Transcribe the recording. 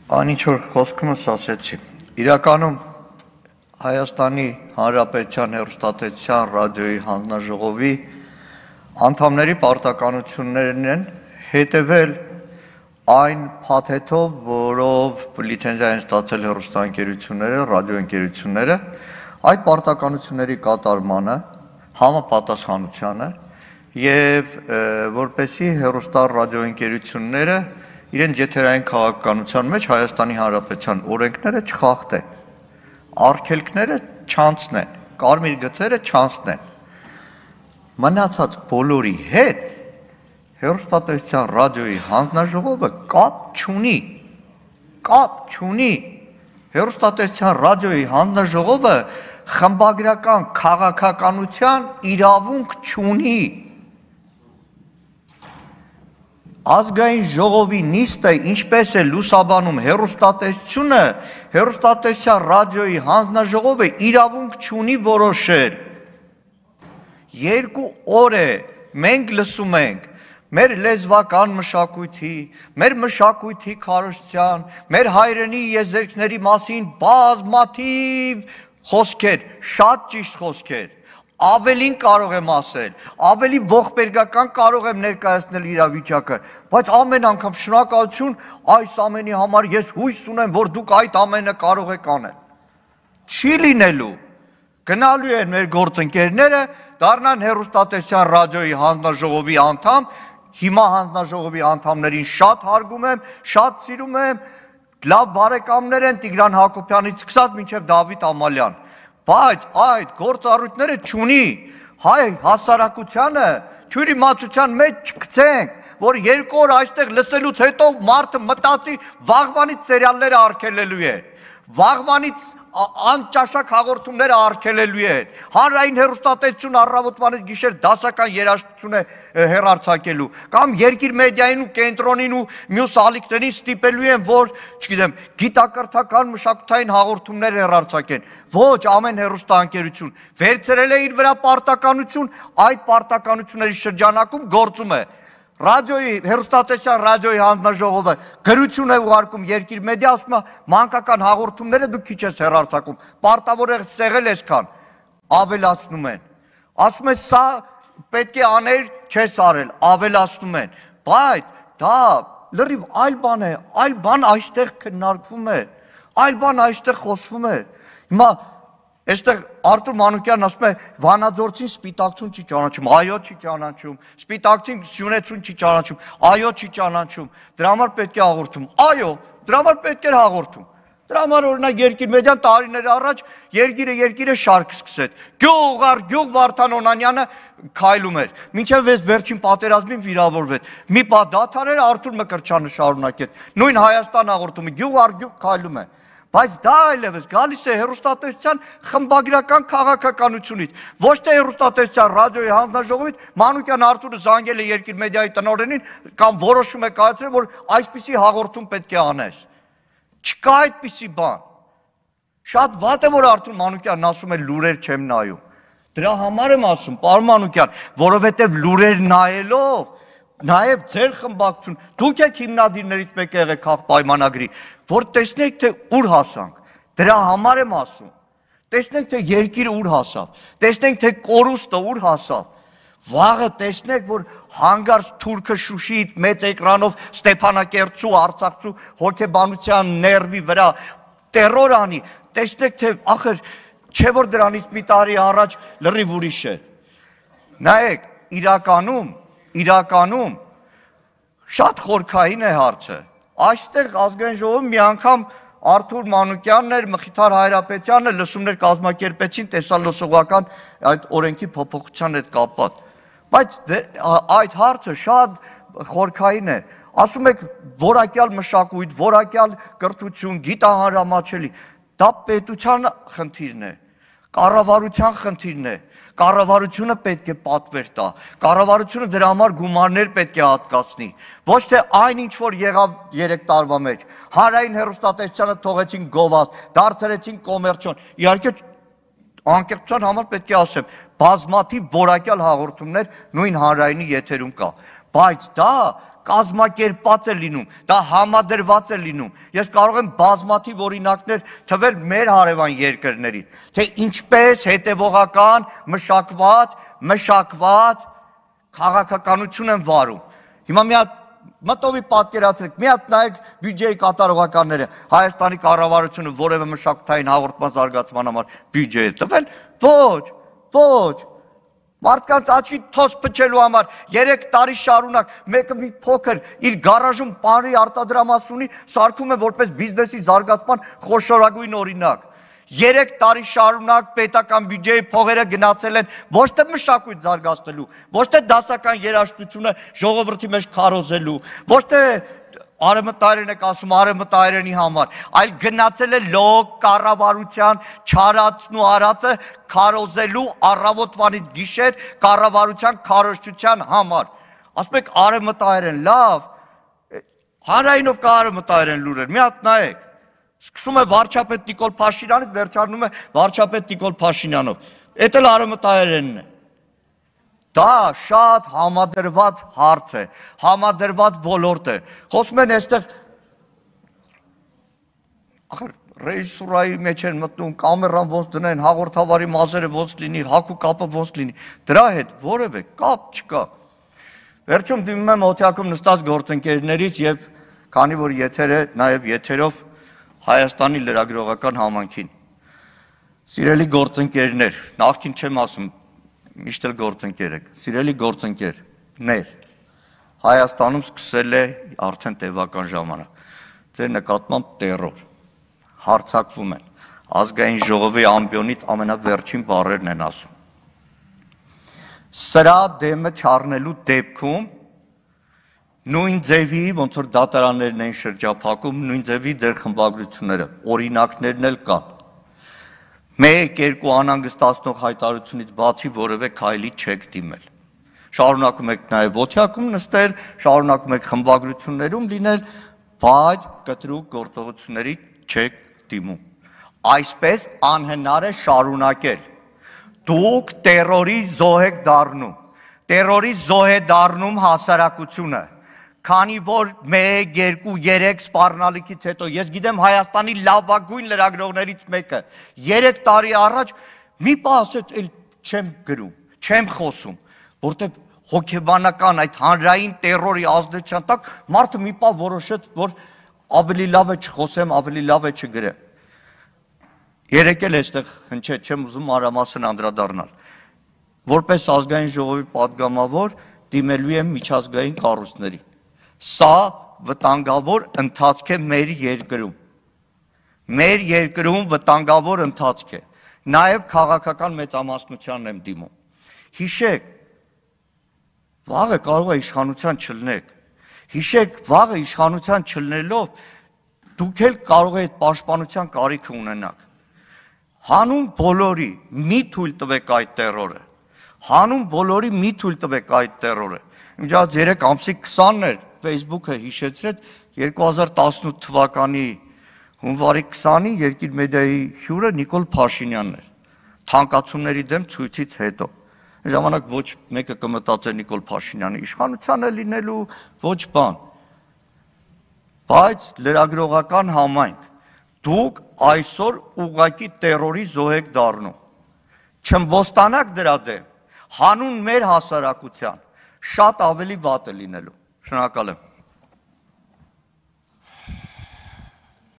Այն ինչ որ խոսքումս ասեցի, իրականում Հայաստանի Հանրապետության հեռուստատեսության ռադիոյի հանձնաժողովի անդամների պարտականություններն են հետևել այն փաթեթով, որով լիցենզիա են ստացել հեռուստաընկերությունները, ռադիոընկերությունները, այդ պարտականությունների կատարմանը, համապատասխանությանը եւ որպեսզի հեռուստա-ռադիոընկերությունները իրենց եթերային քաղաքականության մեջ Հայաստանի Հանրապետության օրենքները չխախտեն, արգելքները չանցնեն, կարմիր գծերը չանցնեն։ Մնացած բոլորի հետ հեռուստատեսության ռադիոյի հանձնաժողովը կապ չունի։ Հեռուստատեսության ռադիոյի հանձնաժողովը խմբագրական քաղաքականության իրավունք չունի։ Ազգային ժողովի նիստը ինչպես է լուսաբանում հեռուստատեսությունը, հեռուստատեսության ռադիոյի հանձնաժողովը իրավունք չունի որոշել։ 2 օր է մենք լսում ենք մեր լեզվական մշակույթի, մեր մշակույթի քարոզչության, մեր հայրենի եզերքների մասին բազմաթիվ խոսքեր, շատ ճիշտ խոսքեր, ավելին կարող եմ ասել, ավելի ողբերգական կարող եմ ներկայացնել իրավիճակը, բայց ամեն անգամ շնորհակալություն այս ամենի համար ես հույս ունեմ, որ դուք այդ ամենը կարող եք անել։ Չի լինելու, գնալու են մեր գործընկերները, դառնան հեռուստատեսության ռադիոյի հանձնաժողովի անդամ, հիմա հանձնաժողովի անդամներին շատ հարգում եմ, շատ սիրում եմ, լավ բարեկամներ են Տիգրան Հակոբյանից սկսած մինչև Դավիթ Ամալյան, բայց այդ գործառույթները չունի, հայ հասարակությանը թյուրիմացության մեջ չգցենք, որ 2 օր այստեղ լսելուց հետո մարդը մտածի վաղվանից սերիալները արգելելու է, վաղվանից անճաշակ հաղորդումները արգելելու են, հանրային հեռուստատեսություն առավոտվանից գիշեր դասական երաժշտություն է հեռարձակելու, կամ երկիր մեդիային ու կենտրոնին ու մյուս ալիքներին ստիպելու են, որ, չգիտեմ, գիտակրթական մշակութային հաղորդումներ հեռարձակեն, ոչ ամեն հեռուստաընկերություն վերցրել է իր վրա պարտականություն, այդ պարտականությունների շրջանակում գործում է։ Ռադիոյի, հեռուստատեսության ռադիոյի հանձնաժողովը գրություն է ուղարկում երկիր մեդիա, ասում է մանկական հաղորդումները դու քիչ ես հեռարձակում, պարտավոր է սեղել այսքան, ավելացնում են, ասում է սա պետք է աներ, չես արել, ավելացնում են, բայց դա լրիվ այլ բան է, այլ բան այստեղ քննարկվում է, այլ բան այստեղ խոսվում է, հիմա Այստեղ Արտուր Մանուկյանն ասում է Վանաձորցին սպիտակցուն չի ճանաչում, այո չի ճանաչում, սպիտակցին Սյունեցուն չի ճանաչում, այո չի ճանաչում, դրա համար պետք է հաղորդում, այո, դրա համար պետք էր հաղորդում, դրա համար օրինակ երկիր մեդիան տարիներ առաջ երկիրը շարք սկսեց, գյուղ առ գյուղ Վարդան Օնանյանը քայլում էր, մինչև վերջին պատերազմին վիրավորվեց, մի պահ դադարեր Արտուր Մկրտչյանը շարունակեց, նույն Հայաստան հաղորդումը գյուղ առ գյուղ քայլում է Բայց դա այլևս գալիս է հեռուստատեսության խմբագրական քաղաքականությունից, ոչ թե հեռուստատեսության ռադիոյի հանձնաժողովից, Մանուկյան Արտուրը զանգել է երկիր մեդիայի տնօրենին կամ որոշում է կայացրել, որ այսպիսի հաղորդում պետք է անես։ Չկա այդպիսի բան։ Շատ վատ է, որ Արտուր Մանուկյանն ասում է լուրեր չեմ նայում։ Դրա համար եմ ասում, պարոն Մանուկյան, որովհետև լուրեր նայելով Նաև ձեր խմբակցություն, դուք եք հիմնադիրներից մեկը եղեք քաղաքապայմանագրի, որ տեսնեք, թե ուր հասանք, դրա համար եմ ասում, տեսնենք, թե երկիրը ուր հասավ, տեսնենք, թե կորուստը ուր հասավ, վաղը տեսնեք, որ հանգարց թուրքը Շուշիից մեծ էկրանով Ստեփանակերտցու, Արցախցու հոգեբանության ներվի վրա տերոր անի, տեսնեք, թե ախր, չէ որ դրանից մի տարի առաջ լրիվ ուրիշ է, նայեք, իրականում շատ խորքային է հարցը, այստեղ ազգային ժողովը մի անգամ Արտուր Մանուկյանն էր, Մխիթար Հայրապետյանը լսումներ կազմակերպեցին տեսալոսողական այդ օրենքի փոփոխության հետ կապված, բայց այդ հարցը շատ խորքային է, ասում եք որակյալ մշակույթ, որակյալ կրթություն, գիտահանրամատչելի, դա պետության խնդիրն է, կառավարության խնդիրն է, կառավարությունը պետք է պատվեր տա, կառավարությունը դրա համար գումարներ պետք է հատկացնի, ոչ թե այն ինչ որ եղավ 3 տարվա մեջ, հանրային հեռուստատեսությանը թողեցին գովազ, դարձրեցին կոմերցիոն, իհարկե անկեղծության համար պետք է ասեմ, բազմաթիվ որակյալ հաղորդումներ նույն հանրայինի եթերում կա, բայց դա կազմակերպված է լինում, դա համադրված է լինում։ Ես կարող եմ բազմաթիվ օրինակներ թվել մեր հարևան երկրներից, թե ինչպես հետևողական, մշակված քաղաքականություն են վարում։ Հիմա մի հատ մտովի պատկերացրեք, մի հատ նայեք բյուջեի կատարողականները, Հայաստանի կառավարությունը որևէ մշակութային հաղորդման զարգացման համար բյուջե է տվել, ոչ, մարդկանց աչքի թոս փչելու համար 3 տարի շարունակ մեկը մի փոքր իր գարաժում պանրի արտադրամաս ունի, սարքում է որպես բիզնեսի զարգացման խոշորագույն օրինակ։ 3 տարի շարունակ պետական բյուջեի փողերը գնացել են ոչ թե մշակույթ զարգացնելու, ոչ թե դասական երաժշտությունը ժողովրդի մեջ քարոզելու, ոչ թե արևմտայերեն եք ասում արևմտայերենի համար, այլ գնացել է լոկ կառավարության չարածն ու արածը քարոզելու առավոտվանից գիշեր կառավարության քարոզչության համար։ Ասում եք արևմտայերեն, լավ, հանրայինով կա արևմտայերեն լուրեր, մի հատ նայեք։ Սկսում է վարչապետ Նիկոլ Փաշինյանից, վերջանում է վարչապետ Նիկոլ Փաշինյանով։ Էդ էլ արևմտայերենն է։ Դա շատ համադրված հարց է, համադրված ոլորտ է։ Խոսում են այստեղ ռեժիսուրայի մեջ են մտնում, կամերան ոնց դնեն, հաղորդավարի մազերը ոնց լինի, հագու կապը ոնց լինի։ Դրա հետ որևէ կապ չկա։ Վերջում դիմում եմ օթյակում նստած գործընկերներից եւ քանի որ եթերը նաեւ եթերով Հայաստանի լրագրողական համայնքին։ Սիրելի գործընկերներ, նախքին չեմ ասում, միշտ էլ գործընկեր եք, սիրելի գործընկերներ, Հայաստանում սկսել է արդեն տևական ժամանակ, ձեր նկատմամբ տերոր, հարձակվում են, ազգային ժողովի ամբիոնից ամենավերջին բառերն են ասում։ Սրա դեմը չառնելու դեպքում նույն ձևի, ոնց որ դատարաններն են շրջափակում, նույն ձևի ձեր խմբագրությունները, օրինակներն էլ կան։ 1-2 անհանգստացնող հայտարարությունից բացի որևէ քայլի չեք դիմել։ Շարունակում եք նաև օթյակում նստել, շարունակում եք խմբագրություններում լինել, բայց կտրուկ գործողությունների չեք դիմում։ Այսպես անհնար է շարունակել։ Դուք տերորի զոհ եք դառնում։ Տերորի զոհ է դառնում հասարակությունը։ Քանի որ 1, 2, 3 սպառնալիքից հետո, ես գիտեմ Հայաստանի լավագույն լրագրողներից մեկը, 3 տարի առաջ մի պահ ասեց, էլ չեմ գրում, չեմ խոսում, որտեղ հոգեբանական այդ հանրային տերորի ազդեցության տակ մարդը մի պահ որոշեց, որ ավելի լավ է չխոսեմ, ավելի լավ է չգրեմ։ Երեկ էլ այստեղ հնչեց, չեմ ուզում մանրամասն անդրադառնալ։ Որպես ազգային ժողովի պատգամավոր դիմելու եմ միջազգային կառույցների։ Սա վտանգավոր ընթացք է մեր երկրում։ Մեր երկրում վտանգավոր ընթացք է։ Նաև քաղաքական մեծամասնությանն եմ դիմում։ Հիշեք, վաղը կարող է իշխանության չլնեք։ Հիշեք, վաղը իշխանության չլնելով դուք էլ կարող եք պաշտպանության կարիք ունենաք։ Հանուն բոլորի մի թույլ տվեք այդ տերորը։ Հանուն բոլորի մի թույլ տվեք այդ տերորը։ Իմջած 3 ամսի 20-ն էր Facebook-ը հիշեցրեց 2018 թվականի հունվարի 20-ին Երկիր մեդիայի հյուրը Նիկոլ Փաշինյանն էր։ Թանկացումների դեմ ցույցից հետո։ Ժամանակ ոչ մեկը կմտածեր Նիկոլ Փաշինյանը իշխանության է լինելու, ոչ բան։ Բայց լրագրողական համայնք դուք այսօր ուղղակի տերորի զոհ եք դառնում։ Չըմբոստանաք դրա դեմ, հանուն մեր հասարակության շատ ավելի վատ է լինելու։ Շնորհակալ եմ։